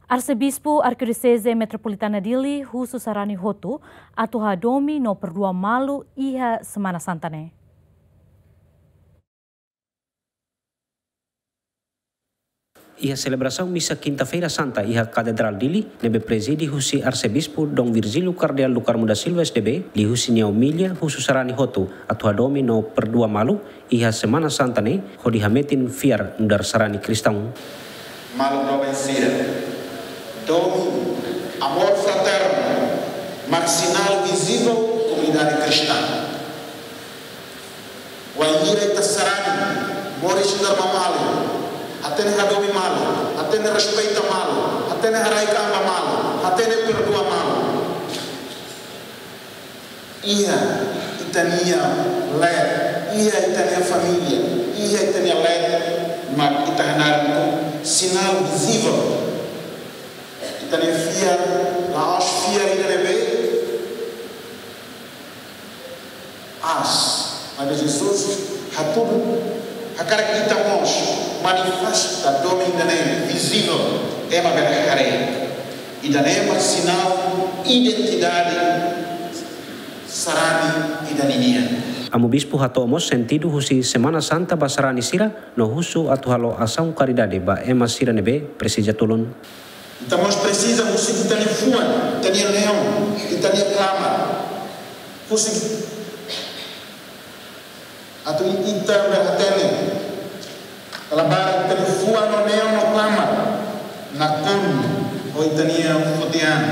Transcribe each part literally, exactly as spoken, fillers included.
Arsebispu Arkidioseze Metropolitana Dili husu sarani hotu atu hadomi no perdua malu iha Semana Santa ne'e. Iha selebrasaun misa Kinta-feira Santa iha Katedrál Dili, ne'ebé prezide husi Arsebispu Dom Virgílio Kardeál do Carmo da Silva S D B, liuhusi nia omilia husu sarani hotu atu hadomi no perdua malu iha Semana Santa ne'e, hodi hametin fiar nu'udar sarani kristaun. Maluk doben sira, domin, amor fraterno mak sinál vizivel komunidade kristaun. Wainhira ita sarani moris nu'udar maun-alin, hatene hadomi malu, hatene respeita malu, hatene haraik an ba malu, hatene perdua malu, iha ita-nia leet, iha ita-nia família, iha ita-nia leet, mak ita hanaran sinál vizivel ita-nia fiar, la'ós fiar ida ne'ebé aas, maibé Jesus hatudu, hakarak ita mós manifesta domin ida-ne'e vizivel, ema bele haree. Ida-ne'e mak sinál identidade sarani ida ninian. Amu Bispu hato'o mós sentidu husi Semana Santa ba sarani sira no husu atu halo asaun karidade ba ema sira ne'ebé presiza tulun. Ita mós presiza husik ita-nia fuan, ita-nia neon, ita-nia klamar. Husik atu ita bele hatene, kala barak ita-nia fuan no neon no klamar nakonu ho ita-nia foti an.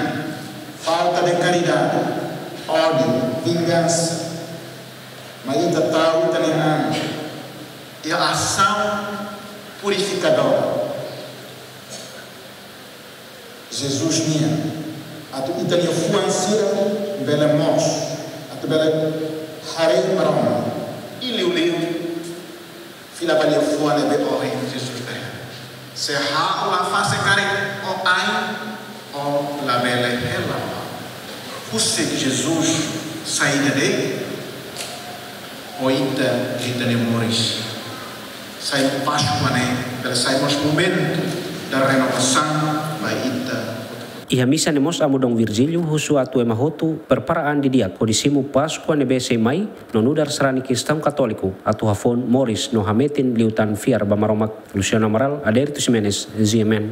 Falta de karidade, ódiu, vingansa. Mai ita tau ita-nia an iha asaun purifikadór Jesus nian, atu ita-nia fuan sira bele moos, atu bele haree Maromak, i liuliu fila ba nia fuan ne'ebé ohin Jesus dehan: Se ha'u la fase karik ó ain, ó labele hela. Husik Jesus sai ida de'it ho ita, ita-nia moris. Sai Páskua ne'e bele sai mós momentu da renovasaun ba ita. Iha misa ne'e mós Amu Dom Virgílio husu atu ema hotu prepara an didi'ak hodi simu Páskua ne'ebé sei mai, no nu'udar sarani kristaun katóliku atu hafoun moris no hametin liután fiar ba Maromak. Luciano Amaral, Adérito Ximenes, G M N.